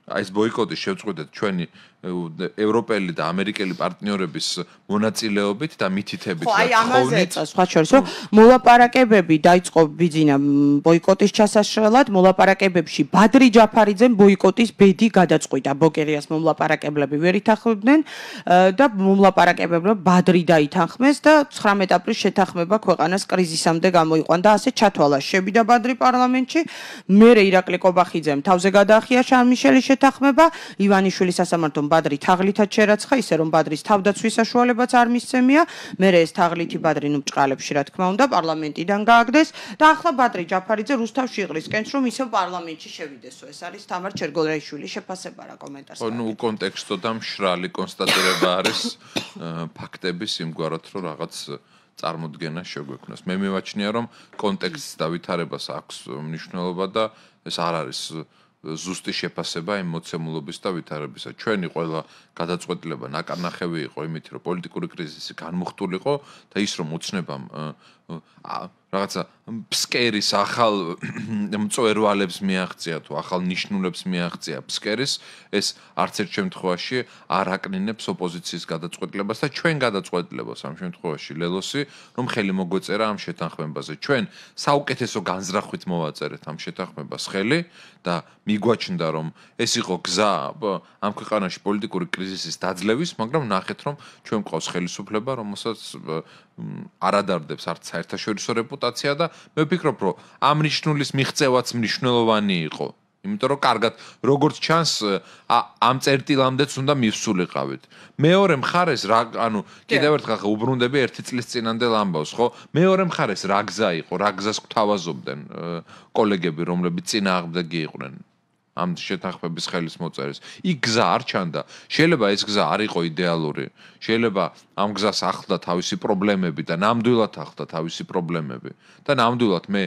აი ეს ბოიკოტის შეწყვეტეთ ჩვენი ევროპელი და ამერიკელი პარტნიორების მონაწილეობით და მითითებით და თხოვნით. სხვა შორის, რომ მოლაპარაკებები დაიწყო ბიძინა ბოიკოტის ჩასაშრელად, მოლაპარაკებებში ბადრი ჯაფარიძემ ბოიკოტის ბედი გადაწყვიტა. ბოკერიას მომლაპარაკებლები ვერ ითანხმებდნენ და მომლაპარაკებლებმა ბადრი დაითანხმეს და ცხრამეტ აპრილს შეთანხმება ქვეყანას კრიზისამდე გამოიყვან და ასე ჩათვალა. შევიდა ბადრი პარლამენტში, მერე ირაკლი კობახიძემ თავზე გადაახია შარმიშელის შეთანხმება, ივანიშვილის სასამართლომ ბადრი თაღლითად შერაცხა, ისე რომ ბადრის თავდაცვის საშუალებაც არ მისცემია. მერე ეს თაღლითი ბადრი ნუ ბჭყალებში რა თქმა უნდა პარლამენტიდან გააგდეს და ახლა ბადრი ჯაფარიძე რუსთავში იყრისკენს, რომ ისევ პარლამენტში შევიდესო. ეს არის თამარ ჩერგოლეიშვილის შეფასება რა კომენტარს. ხო, ნუ კონტექსტო და მშრალი კონსტატირება არის ფაქტების იმგვარად, რომ რაღაც წარმოდგენა შეგვექმნას. მე მივაჩნია, რომ კონტექსტს და ვითარებას აქვს მნიშვნელობა და ეს არ არის ზუსტი შეფასება იმ მოცემულობის და ვითარებისა. ჩვენი ყველა გადაწყვეტილება ნაკარნახევი იყო იმით, რომ პოლიტიკური კრიზისი განმუხტულიყო და ის რომ უცნებამ რაღაცა ფსკერის ახალ მწვერვალებს მიაღწია თუ ახალ ნიშნულებს მიაღწია ფსკერის, ეს არც ერთ შემთხვევაში არ აკნინებს ოპოზიციის გადაწყვეტილებას და ჩვენ გადაწყვეტილებას ამ შემთხვევაში ლელოსი, რომ ხელი მოგვეწერა ამ შეთანხმებაზე. ჩვენ საუკეთესო განზრახვით მოვაწერეთ ამ შეთანხმებას ხელი და მიგვაჩნდა, რომ ეს იყო გზა ამ ქვეყანაში პოლიტიკური კრიზისის დაძლევის, მაგრამ ნახეთ, რომ ჩვენ გვყავს ხელისუფლება, რომელსაც არ ადარდებს არც საერთაშორისო რეპუტაცია და მე ვფიქრობ, რომ ამ ნიშნულის მიღწევაც მნიშვნელოვანი იყო. იმიტომ რომ კარგად როგორც ჩანს ამ წერტილამდეც უნდა მივსულიყავით. მეორე მხარეს რა, ანუ კიდევ ერთხელ ხა უბრუნდები ერთი წლის წინანდელ ამბავს, ხო? მეორე მხარეს რა გზა იყო, რა გზას გვთავაზობდნენ კოლეგები, რომლებიც წინააღმდეგი იყვნენ ამ შეთანხმების ხელის მოწერის. იქ გზა არ ჩანდა. შეიძლება ეს გზა არ იყო იდეალური. შეიძლება ამ გზას ახლდა თავისი პრობლემები და ნამდვილად ახლდა თავისი პრობლემები. და ნამდვილად მე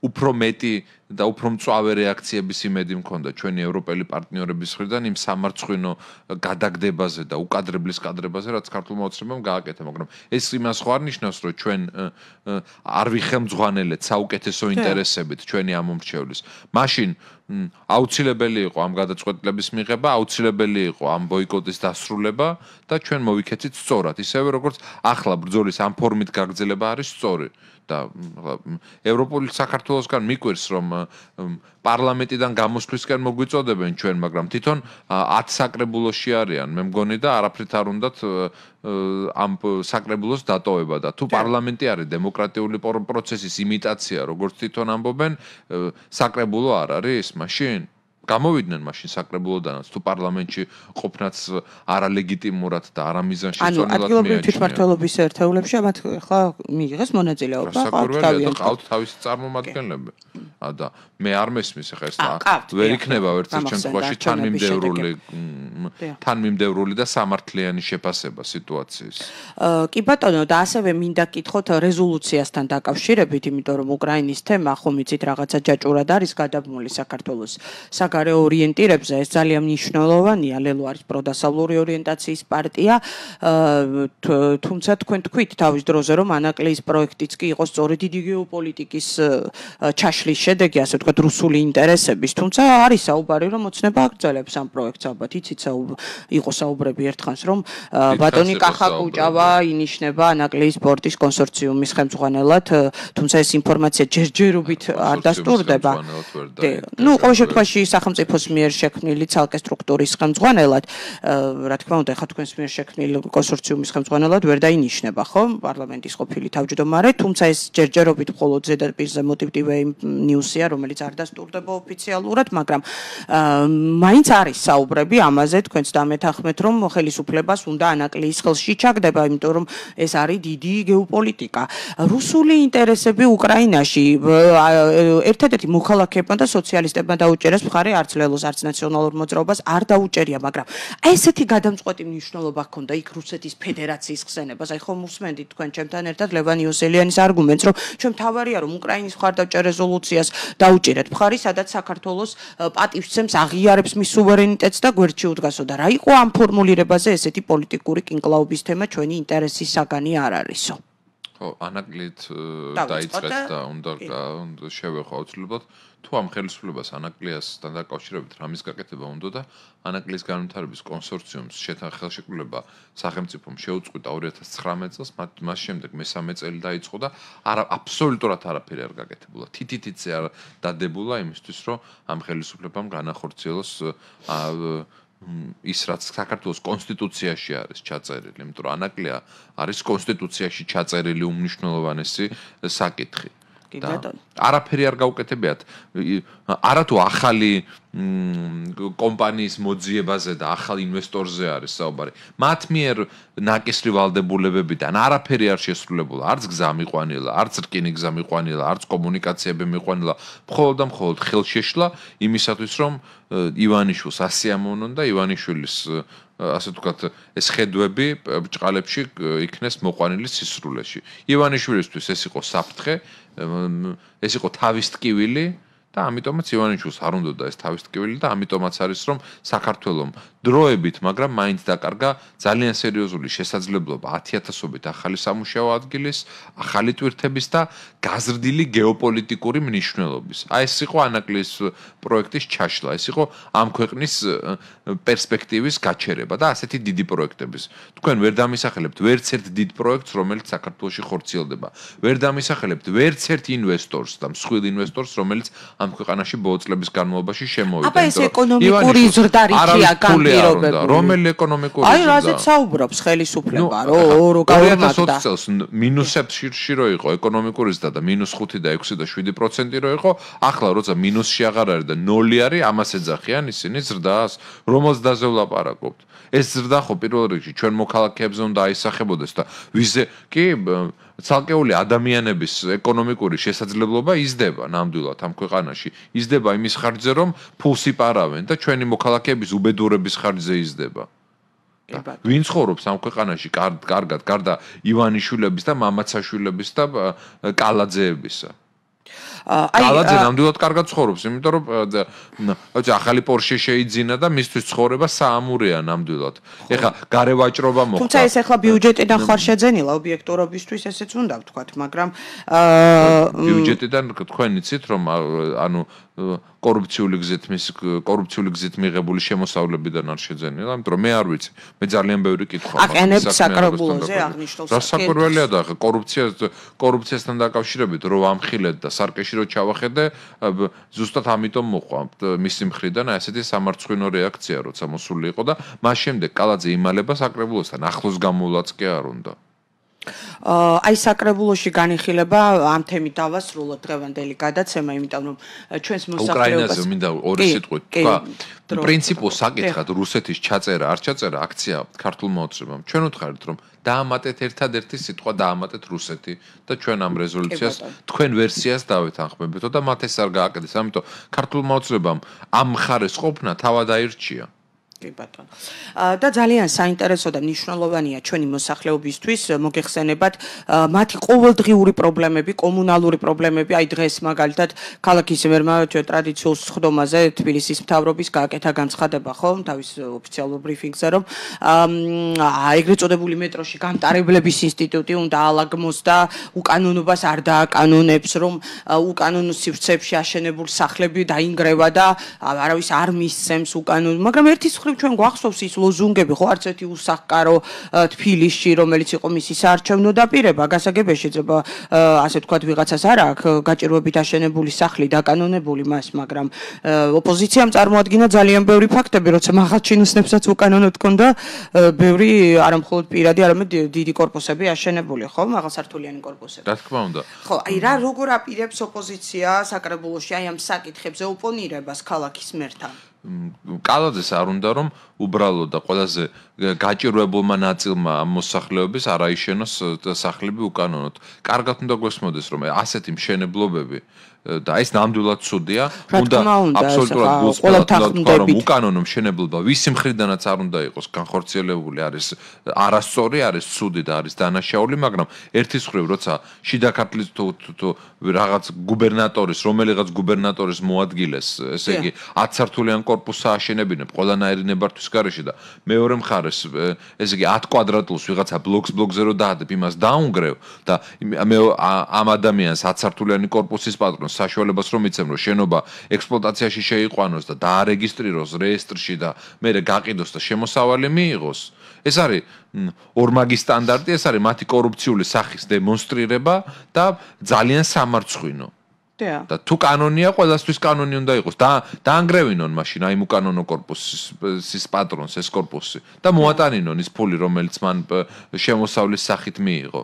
უფრო მეტი და უფრო მწვავე რეაქციების იმედი მქონდა ჩვენი ევროპელი პარტნიორების მხრიდან იმ სამარცხვინო გადაგდებაზე და უკადრებლის კადრებაზე, რაც ქართულმა ოცნებამ გააკეთა, მაგრამ ეს იმას ხო არ ნიშნავს, რომ ჩვენ არ ვიხელმძღვანელეთ საუკეთესო ინტერესებით ჩვენი ამ მომრჩევლის. მაშინ აუცილებელი იყო ამ გადაწყვეტილების მიღება, აუცილებელი იყო ამ ბოიკოტის დასრულება და ჩვენ მოვიქეცით სწორად, ისევე როგორც ახლა ბრძოლის ამ ფორმით გაგრძელება არის სწორი. და ევროპული საქართველოსგან მიკვირს, რომ პარლამენტიდან გამოსვლისკენ მოგვიწოდებენ ჩვენ, მაგრამ თვითონ ათ საკრებულოში არიან, მე მგონი და არაფრით არ უნდათ ამ საკრებულოს დატოვება და თუ პარლამენტი არის დემოკრატიული პროცესის იმიტაცია, როგორც თვითონ ამბობენ, საკრებულო არ არის მაშინ? გამოვიდნენ მაშინ საკრებულოდანაც თუ პარლამენტში ყოფნაც არალეგიტიმურად და არამიზანში ანუ ადგილობრივი თვითმმართველობის ერთეულებში მათ ახლა მიიღეს მონაწილეობა ყავთ თავისი წარმომადგენლები და მე არ მესმის ახლა ეს ვერ იქნება ვერცერთ შემთხვევაში თანმიმდევრული თანმიმდევრული და სამართლიანი შეფასება სიტუაციის. კი ბატონო და ასევე მინდა კითხოთ რეზოლუციასთან დაკავშირებით, იმიტომ რომ უკრაინის თემა ხომ იცით რაღაცა ჯაჭურად არის გადაბმული საქართველოს საგარეო ორიენტირებზე, ეს ძალიან მნიშვნელოვანია, ლელო არის პროდასავლური ორიენტაციის პარტია, თუმცა თქვენ თქვით თავის დროზე რომ ანაკლიის პროექტიც კი იყო სწორედ დიდი გეოპოლიტიკის ჩაშლის შედეგი, ასე ვთქვათ, რუსული ინტერესების, თუმცა არის საუბარი რომ ოცნება აგრძელებს ამ პროექტს ალბათ, იცით იყო საუბრები ერთხანს რომ ბატონი კახაკუჭავა ინიშნება ანაკლიის პორტის კონსორციუმის ხელმძღვანელად, თუმცა ეს ინფორმაცია ჯერჯერობით არ დასტურდება. ნუ ყოველ შემთხვევაში სახელმწიფოს მიერ შექმნილი ცალკე სტრუქტურის ხელმძღვანელად, რა თქმა უნდა, ხა თქვენს მიერ შექმნილი კონსორციუმის ხელმძღვანელად ვერ დაინიშნება, ხო, პარლამენტის ყოფილი თავმჯდომარე, თუმცა ეს ჯერჯერობით მხოლოდ ზედაპირზე მოტივტივე ნიუსია, რომელიც არ დასტურდება ოფიციალურად, მაგრამ მაინც არის საუბრები ამაზე, თქვენც დამეთანხმეთ, რომ ხელისუფლებას უნდა ანაკლიის ხელში ჩაგდება, იმიტომ რომ ეს არის დიდი გეოპოლიტიკა. რუსული ინტერესები უკრაინაში ერთადერთი მოქალაქეებმა და სოციალისტებმა დაუჭერეს მხარე არც ლელოს, არც ნაციონალურ მოძრაობას არ დაუჭერია, მაგრამ ესეთი გადამწყვეტი მნიშვნელობა ჰქონდა იქ რუსეთის ფედერაციის ხსენებას. აი ხომ უსმენდით თქვენ ჩემთან ერთად ლევან იოსელიანის არგუმენტს, რომ ჩვენ თავარია რომ უკრაინის მხარდაჭერ რეზოლუციას დაუჭერეთ მხარი, სადაც საქართველოს პატივცემს აღიარებს მის სუვერენიტეტს და გვერდში უდგასო და რა იყო ამ ფორმულირებაზე ესეთი პოლიტიკური კინკლაობის თემა ჩვენი ინტერესის საგანი არ არისო. ხო, ანაკლით დაიწყეთ და უნდა შევეხო აუცილებლად თუ ამ ხელისუფლებას ანაკლიასთან დაკავშირებით რამის გაკეთება უნდა და ანაკლიის განვითარების კონსორციუმს ხელშეკრულება სახელმწიფომ შეუწყვიტა ორი ათას ცხრამეტ წელს, მას შემდეგ მესამე წელი დაიწყო და არა აბსოლუტურად არაფერი არ გაკეთებულა. თითითიცე არ დადებულა იმისთვის, რომ ამ ხელისუფლებამ განახორციელოს ის რაც საქართველოს კონსტიტუციაში არის ჩაწერილი, იმიტომ რომ ანაკლია არის კონსტიტუციაში ჩაწერილი უმნიშვნელოვანესი საკითხი. არაფერი არ გაუკეთებიათ. არათუ ახალი კომპანიის მოძიებაზე და ახალ ინვესტორზე არის საუბარი. მათ მიერ ნაკისრი ვალდებულებებიდან არაფერი არ შესრულებულა, არც გზა მიყვანილა, არც რკინი გზა მიყვანილა, არც კომუნიკაციები მიყვანილა. მხოლოდ და მხოლოდ ხელშეშლა იმისათვის, რომ ივანიშვილს ასიამოვნონ და ივანიშვილის ასე ვთქვათ, ეს ხედვები ბრჭყალებში იქნეს მოყვანილი სისრულეში. ივანიშვილისთვის ეს იყო საფრთხე, ეს იყო თავის ტკივილი და ამიტომაც ივანიშვილს არ უნდოდა ეს თავის ტკივილი და ამიტომაც არის რომ საქართველოს დროებით, მაგრამ მაინც დაკარგა ძალიან სერიოზული შესაძლებლობა ათი-ათასობით ახალი სამუშაო ადგილის, ახალი ტვირთების და გაზრდილი გეოპოლიტიკური მნიშვნელობის. აი ეს იყო ანაკლიის პროექტის ჩაშლა, ეს იყო ამ ქვეყნის პერსპექტივის გაჩერება და ასეთი დიდი პროექტების. თქვენ ვერ დამისახელებთ ვერც ერთ დიდ პროექტს, რომელიც საქართველოში ხორციელდება. ვერ დამისახელებთ ვერც ერთ ინვესტორს და მსხვილ ინვესტორს, რომელიც ამ ქვეყანაში ბოლო წლების განმავლობაში შემოვიდა. აბა ეს ეკონომიკური ზრდა რითია განპირობებული? რომელი ეკონომიკური ზრდა? აი რაზეც საუბრობს ხელისუფლება, რომ ორი ათას ოცი წელს მინუსებში რო იყო ეკონომიკური ზრდა და მინუს ხუთი და ექვსი და შვიდი პროცენტი რო იყო, ახლა როცა მინუსში აღარ არის და ნული არის, ამას ეძახიან ისინი ზრდას, რომელს დაზე ვლაპარაკობთ. ეს ზრდა ხო პირველ რიგში ჩვენ მოქალაქეებზე უნდა აისახებოდეს და ვიზე კი ცალკეული ადამიანების ეკონომიკური შესაძლებლობა იზრდება ნამდვილად ამ ქვეყანაში. იზრდება იმის ხარჯზე, რომ ფულს იპარავენ და ჩვენი მოქალაქეების უბედურების ხარჯზე იზრდება. ვინ ცხოვრობს ამ ქვეყანაში კარგად, გარდა ივანიშვილების და მამაცაშვილების და კალაძეებისა? კალაძე ნამდვილად კარგად ცხოვრობს, იმიტომ რომ ახალი პორშე შეიძინა და მისთვის ცხოვრება საამურეა ნამდვილად. ეხლა გარე ვაჭრობა მოხდა. თუმცა ეს ეხლა ბიუჯეტიდან ხარ შეძენილა ობიექტურობისთვის ესეც უნდა ვთქვათ, მაგრამ ბიუჯეტიდან თქვენ იცით რომ ანუ კორუფციული გზით მის კორუფციული გზით მიღებული შემოსავლებიდან არ შეძენილა, იმიტომ რომ მე არ ვიცი. მე ძალიან ბევრი კითხვა მაქვს. აყენებ საკრებულოზე აღნიშნულ საკითხს. რა საკურველია და კორუფცია კორუფციასთან დაკავშირებით რო ამხილეთ და სარკეში რო ჩავახედე, ზუსტად ამიტომ მოყვა მისი მხრიდან ასეთი სამარცხვინო რეაქცია, როცა მოსული იყო და მას შემდეგ კალაძე იმალება საკრებულოსთან ახლოს გამოვლაც კი არ უნდა. აი საკრებულოში განიხილება ამ თემით დავასრულოთ დღევანდელი გადაცემა, იმიტომ რომ ჩვენს მოსახლეობას უკრაინაზე მინდა ორი სიტყვით თქვა. პრინციპულ საკითხად რუსეთის ჩაწერა, არ ჩაწერა აქცია ქართულმა ოცნებამ. ჩვენ ვთხარით რომ დაამატეთ ერთადერთი სიტყვა დაამატეთ რუსეთი და ჩვენ ამ რეზოლუციას თქვენ ვერსიას დავეთანხმებეთო და მათ ეს არ გააკეთეს. ამიტომ ქართულმა ოცნებამ ამ მხარეს ყოფნა თავად აირჩია. კი ბატონო. და ძალიან საინტერესო და მნიშვნელოვანია ჩვენი მოსახლეობისთვის მოგეხსენებათ მათი ყოველდღიური პრობლემები, კომუნალური პრობლემები, აი დღეს მაგალითად ქალაქის მერმა ტრადიციულ სხდომაზე თბილისის მთავრობის გააკეთა განცხადება, ხო, თავის ოფიციალურ ბრიფინგზე, რომ ეგრეთ წოდებული მეტროში გამტარებლების ინსტიტუტი უნდა ალაგმოს და უკანონობას არ დააკანონებს, რომ უკანონო სივრცეებში აშენებულ სახლები დაინგრევა და არავის არ მისცემს უკანონო, მაგრამ ერთის ჩვენ გვახსოვს ის ლოზუნგები, ხო, არც ერთი უსახკარო თბილისში, რომელიც იყო მისი საარჩევნო დაპირება, გასაგებია შეიძლება ასე ვთქვათ ვიღაცას არ აქვს გაჭირვებით აშენებული სახლი დაკანონებული მას, მაგრამ ოპოზიციამ წარმოადგინა ძალიან ბევრი ფაქტები, როცა მაღალჩინოსნებსაც უკანონოდ ჰქონდა ბევრი არამხოლოდ პირადი, არამედ დიდი კორპუსები აშენებული, ხო, მაღალსართულიანი კორპუსები. რა თქმა უნდა. ხო, აი რა როგორ აპირებს ოპოზიცია საკრებულოში აი ამ საკითხებზე ოპონირებას ქალაქის მერთან? კალაძეს არ უნდა რომ უბრალოდ და ყველაზე გაჭირვებულმა ნაწილმა ამ მოსახლეობის არ აიშენოს სახლები უკანონოდ. კარგად უნდა გვესმოდეს რომ ასეთი მშენებლობები და ეს ნამდვილად ცუდია. უნდა აბსოლუტურად გულწრფელად რომ უკანონო მშენებლობა ვისი მხრიდანაც არ უნდა იყოს განხორციელებული, არის არასწორი, არის ცუდი და არის დანაშაული, მაგრამ ერთის მხრივ როცა შიდა ქართლის თუ რაღაც გუბერნატორის, რომელიღაც გუბერნატორის მოადგილეს, ესე იგი ათი სართულიან კორპუსს ააშენებინებ ყველანაირი ნებართვის გარეშე და მეორე მხარეს ესე იგი ათი კვადრატულს ვიღაცა ბლოკს ბლოკზე რო დაადებ, იმას დაუნგრევ და მე ამ ადამიანს ათი სართულიანი კორპუსის პატრონს საშუალებას რომ იცემ რომ შენობა ექსპლუატაციაში შეიყვანოს და დაარეგისტრიროს რეესტრში და მერე გაყიდოს და შემოსავალი მიიღოს. ეს არის ორმაგი სტანდარტი, ეს არის მათი კორუფციული სახის დემონსტრირება და ძალიან სამარცხვინო. და თუ კანონია, ყველასთვის კანონი უნდა იყოს. და დაანგრევინონ მაშინ აი უკანონო კორპუსის პატრონს ეს კორპუსი და მოატანინონ ის ფული, რომელიც მან შემოსავლის სახით მიიღო.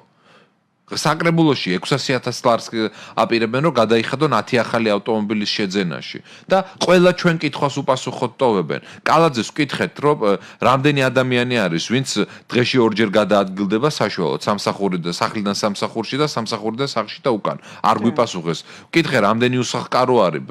საკრებულოში ექვსასი ათას ლარს აპირებენ რომ გადაიხადონ ათი ახალი ავტომობილის შეძენაში და ყველა ჩვენ კითხვას უპასუხოდ ტოვებენ. კალაძეს ვკითხეთ რომ რამდენი ადამიანი არის ვინც დღეში ორჯერ გადაადგილდება საშუალოდ სამსახურიდან სახლიდან სამსახურში და სამსახურიდან სახლში და უკან. არ გვიპასუხეს. ვკითხე რამდენი უსახკარო არის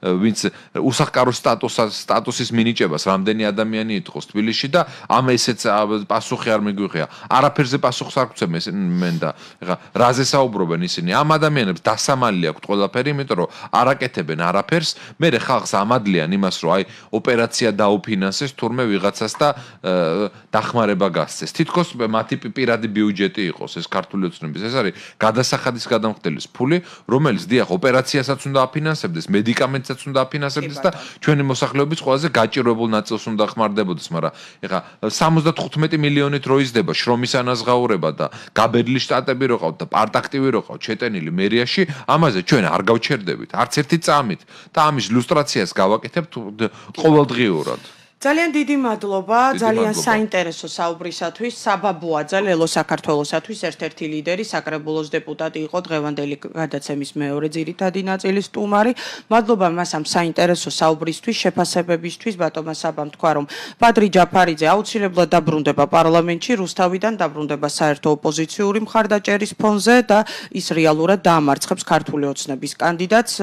ვინც უსახკარო სტატუსის მინიჭებას რამდენი ადამიანი ითხოვს თბილისში და ამ ესეც პასუხი არ მიგვიღია. არაფერზე პასუხს არ გვცემენ და ეხა რაზე საუბრობენ ისინი? ამ ადამიანებს დასამალი აქვთ ყველაფერი, იმიტომ რომ არ აკეთებენ არაფერს, მერე ხალხს ამადლიან იმას, რომ აი ოპერაცია დაუფინანსეს თურმე ვიღაცას და დახმარება გასცეს. თითქოს მათი პირადი ბიუჯეტი იყოს ეს ქართული ოცნების. ეს არის გადასახადის გადამხდელის ფული, რომელიც დიახ ოპერაციასაც უნდა აფინანსებდეს, მედიკამენტსაც უნდა აფინანსებდეს და ჩვენი მოსახლეობის ყველაზე გაჭირვებულ ნაწილს უნდა ხმარდებოდეს, მაგრამ ეხა სამოცდათხუთმეტი მილიონით რო იზრდება შრომის ანაზღაურება და გაბედლი შტატები რო და პარტაქტივი რო ყავთ შეტენილი მერიაში, ამაზე ჩვენ არ გავჩერდებით არც ერთი წამით და ამის ილუსტრაციას გავაკეთებთ ყოველდღიურად. ძალიან დიდი მადლობა, ძალიან საინტერესო საუბრისათვის. საბაბუაძე ლელო საქართველოსათვის ერთ-ერთი ლიდერი, საკრებულოს დეპუტატი იყო, დღევანდელი გადაცემის მეორე ძირითადი ნაწილის სტუმარი. მადლობა მას ამ საინტერესო საუბრისთვის, შეფასებებისთვის. ბატონმა საბამ თქვა, რომ ბადრი ჯაფარიძე აუცილებლად დაბრუნდება პარლამენტში, რუსთავიდან დაბრუნდება საერთო ოპოზიციური მხარდაჭერის ფონზე და ის რეალურად დაამარცხებს ქართული ოცნების კანდიდატს.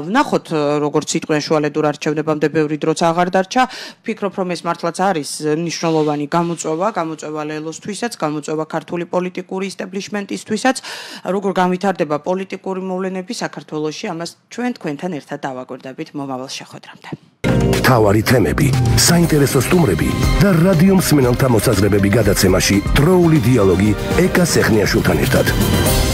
ვნახოთ, როგორც სიტყვიან შუალედურ არჩევნებამდე ბევრი დროც აღარ დარჩა. ვფიქრობ, რომ ეს მართლაც არის მნიშვნელოვანი გამოწვევა, გამოწვევა ლელოსთვისაც, გამოწვევა ქართული პოლიტიკური ისტაბლიშმენტისთვისაც, როგორ განვითარდება პოლიტიკური მოვლენები საქართველოში, ამას ჩვენ თქვენთან ერთად დავაკვირდებით მომავალ შეხვედრამდე. მთავარი თემები, საინტერესო სტუმრები და რადიო მსმენელთა მოსაზრებები გადაცემაში დროული დიალოგი ეკა სეხნიაშვილთან ერთად.